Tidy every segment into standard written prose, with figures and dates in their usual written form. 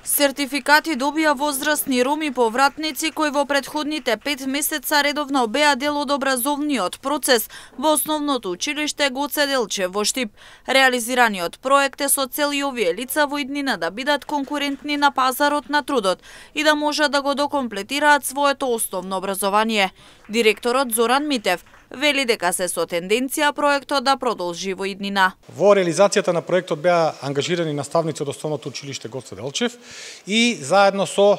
Сертификати добија возрастни роми повратници кои во претходните 5 месеца редовно беа дел од образовниот процес во основното училиште Гоце Делчев во Штип. Реализираниот проект е со цел и овие лица во иднина да бидат конкурентни на пазарот на трудот и да можат да го докомплетираат своето основно образование. Директорот Зоран Митев вели дека се со тенденција проектот да продолжи во иднина. Во реализацијата на проектот беа ангажирани наставници од Основното училиште Гоце Делчев и заедно со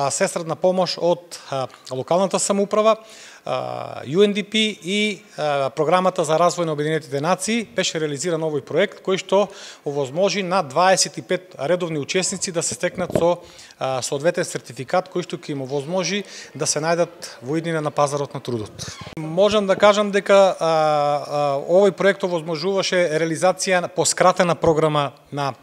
сестрадна помош од локалната самоуправа, UNDP и Програмата за развој на Обединетите нации беше реализиран овој проект кој што овозможи на 25 редовни учесници да се стекнат со соодветен сертификат кој што ќе им овозможи да се најдат во иднина на пазарот на трудот. Можам да кажам дека овој проект овозможуваше реализација по скратена програма на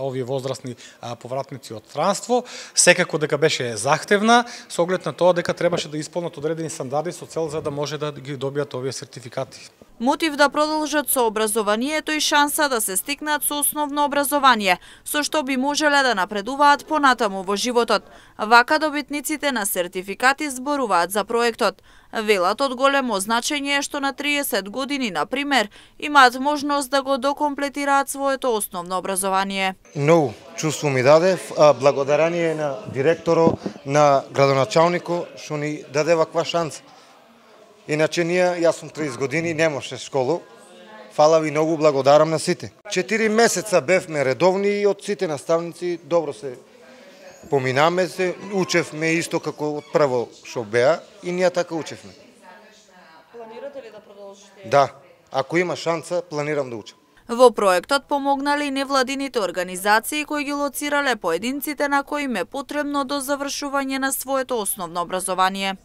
овие возрастни повратници од странство, секако дека беше захтевна, со оглед на тоа дека требаше да исполнат одредени стандарди со цел за да може да ги добијат овие сертификати. Мотив да продолжат со образованието и шанса да се стекнат со основно образование, со што би можеле да напредуваат понатаму во животот. Вака добитниците на сертификати зборуваат за проектот. Велат од големо значење што на 30 години, на пример, имаат можност да го докомплетираат своето основно образование. Многу чувство ми даде, благодарение на директоро, на градоначалнико, што ни даде ваква шанса. Иначе јас сум 30 години, немаше школу. Фала ви многу, благодарам на сите. 4 месеца бевме редовни и од сите наставници добро се поминаме се, учевме исто како од прво што беа и ние така учевме. Планирате ли да продолжите? Да, ако има шанса, планирам да учам. Во проектот помогнале и невладините организации кои ги лоцирале поединците на кои им е потребно до завршување на своето основно образование.